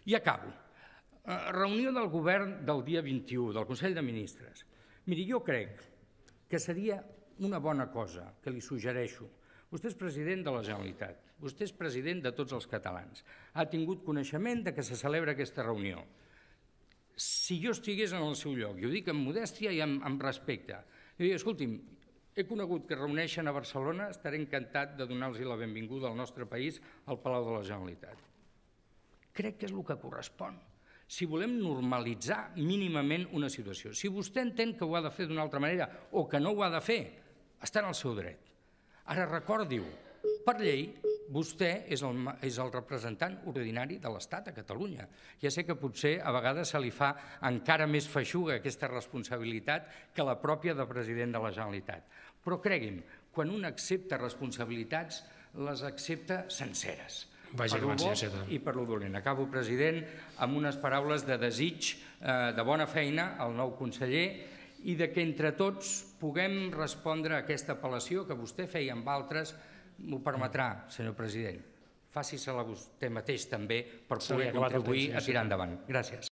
I acabo. Reunió del govern del dia 21, del Consell de Ministres. Miri, jo crec que seria una bona cosa, que li suggereixo. Vostè és president de la Generalitat, vostè és president de tots els catalans. Ha tingut coneixement de que se celebra aquesta reunió. Si jo estigués en el seu lloc, i ho dic amb modèstia i amb respecte, jo dic, escolti'm, he conegut que reuneixen a Barcelona, estaré encantat de donar-los la benvinguda al nostre país al Palau de la Generalitat. Crec que és el que correspon. Si volem normalitzar mínimament una situació. Si vostè entén que ho ha de fer d'una altra manera o que no ho ha de fer, està en el seu dret. Ara recordi-ho, per llei, vostè és el representant ordinari de l'Estat a Catalunya. Ja sé que potser a vegades se li fa encara més feixuga aquesta responsabilitat que la pròpia de president de la Generalitat. Però cregui'm, quan un accepta responsabilitats, les accepta senceres. Per lo bo i per lo dolent. Acabo, president, amb unes paraules de desig de bona feina al nou conseller i de que entre tots puguem respondre a aquesta apel·lació que vostè feia amb altres. M'ho permetrà, senyor president. Faci-se-la vostè mateix també per poder contribuir a tirar endavant. Gràcies.